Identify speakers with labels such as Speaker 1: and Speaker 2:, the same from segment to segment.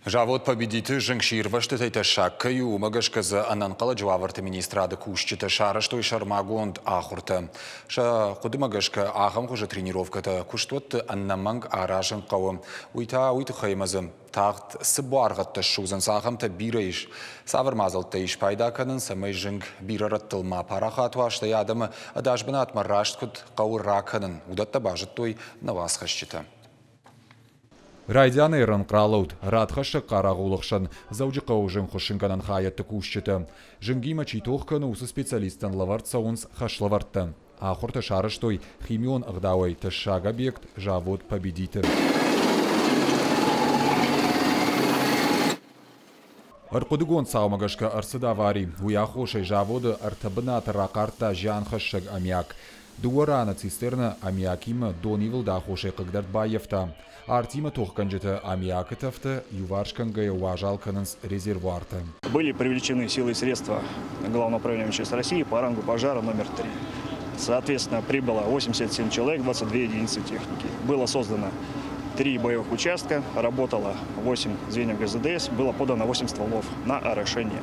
Speaker 1: Завод «Победит»-ы зынгсирвӕзтытӕй тӕссаг кӕй у, уымӕ гӕсгӕ дзы ӕнӕнхъӕлӕджы уавӕрты министрады кусджытӕ сарӕзтой сӕрмагонд ахуыртӕ. Сӕ хъуыдымӕ гӕсгӕ ахӕм хуызы тренировкӕтӕ куыстуӕтты ӕнӕмӕнг аразын хъӕуы. Уый та уый тыххӕй ӕмӕ дзы тагъд цы буаргъӕдтӕ ссудзынц, ахӕмтӕ бирӕ ис. Цавӕр мадзӕлттӕ ис пайда кӕнын, цӕмӕй зынг бирӕ рӕттыл ма парахат уа, стӕй адӕмы ӕдас бынатмӕ раст куыд хъӕуы ракӕнын, уыдӕттӕ базыдтой нӕ уацхӕсджытӕ.
Speaker 2: Райдианӕй рӕнхъ ралӕуд радхӕссӕг хъарагъулы хсӕн Дзӕуджыхъӕуы зынгхуыссынгӕнӕн хайӕдты кусджытӕ. Зынгимӕ чи тох кӕны, уыцы специалисттӕн лӕвӕрд цӕуынц хӕслӕвӕрдтӕ. Ахуыртӕ сарӕзтой химион ӕгъдауӕй тӕссаг объект завод «Победит»-ы. Ӕрхъуыдыгонд цаумӕ гӕсгӕ ӕрцыд авари. Уый аххосӕй заводы ӕртӕ бынаты рахъардта зианхӕссӕг аммиак. Дыууӕ раны цистернӕ аммиакимӕ донивылды аххосӕй хъыгдӕрд баййӕфта. Артимӕ тохгӕнджытӕ аммиакы тӕфтӕ иуварс кӕнгӕйӕ уазал кӕнынц резервуартӕ.
Speaker 3: Были привлечены силы и средства Главного управления МЧС России по рангу пожара номер 3. Соответственно, прибыло 87 человек, 22 единицы техники. Было создано три боевых участка, работало 8 звеньев ГЗДС, было подано 8 стволов на орошение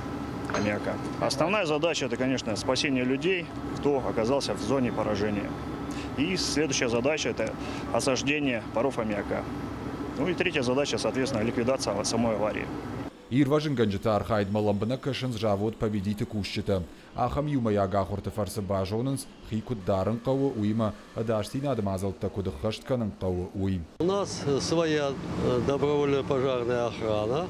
Speaker 3: аммиака. Основная задача – это, конечно, спасение людей, кто оказался в зоне поражения. И следующая задача – это осаждение паров аммиака. Ну и третья задача, соответственно, ликвидация самой аварии.
Speaker 2: Ирвӕзынгӕнджыты архайдмӕ лӕмбынӕг кӕсынц завод «Победит»-ы кусджытӕ. Ахӕм иумӕйаг ахуырты фӕрцы базонынц, хи куыд дарын хъӕуы, уыимӕ ӕдасдзинады мадзӕлттӕ куыд ӕххӕст кӕнын хъӕуы, уый.
Speaker 4: У нас своя добровольная пожарная охрана,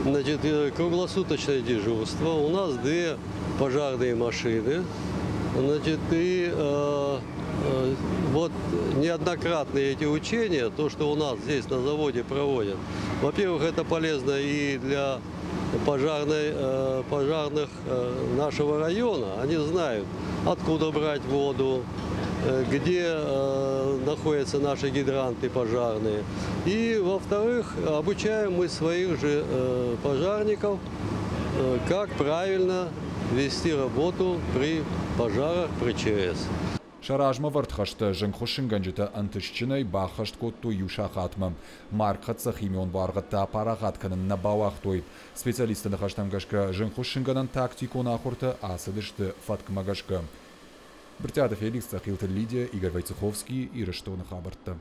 Speaker 4: значит, круглосуточное дежурство. У нас две пожарные машины. Значит, и вот неоднократные эти учения, то, что у нас здесь на заводе проводят, во-первых, это полезно и для пожарных нашего района. Они знают, откуда брать воду, где находятся наши гидранты пожарные. И, во-вторых, обучаем мы своих же пожарников, как правильно вести работу при пожарах, при ЧС.
Speaker 2: Сӕ размӕ вӕрд хӕстӕ зынгхуыссынгӕнджытӕ ӕнтыстджынӕй баххӕст кодтой иу сахатмӕ. Маргхӕццӕ химион буаргъӕдтӕ апарахат кӕнын нӕ бауагътой. Специалистты ныхӕстӕм гӕсгӕ зынгхуыссынгӕнӕн тактикон ахуыртӕ ацыдысты фӕткмӕ гӕсгӕ. Брытъиаты Феликс, Цъӕхилты Лидия, Игорь Войцеховский, Ирыстоны хабӕрттӕ.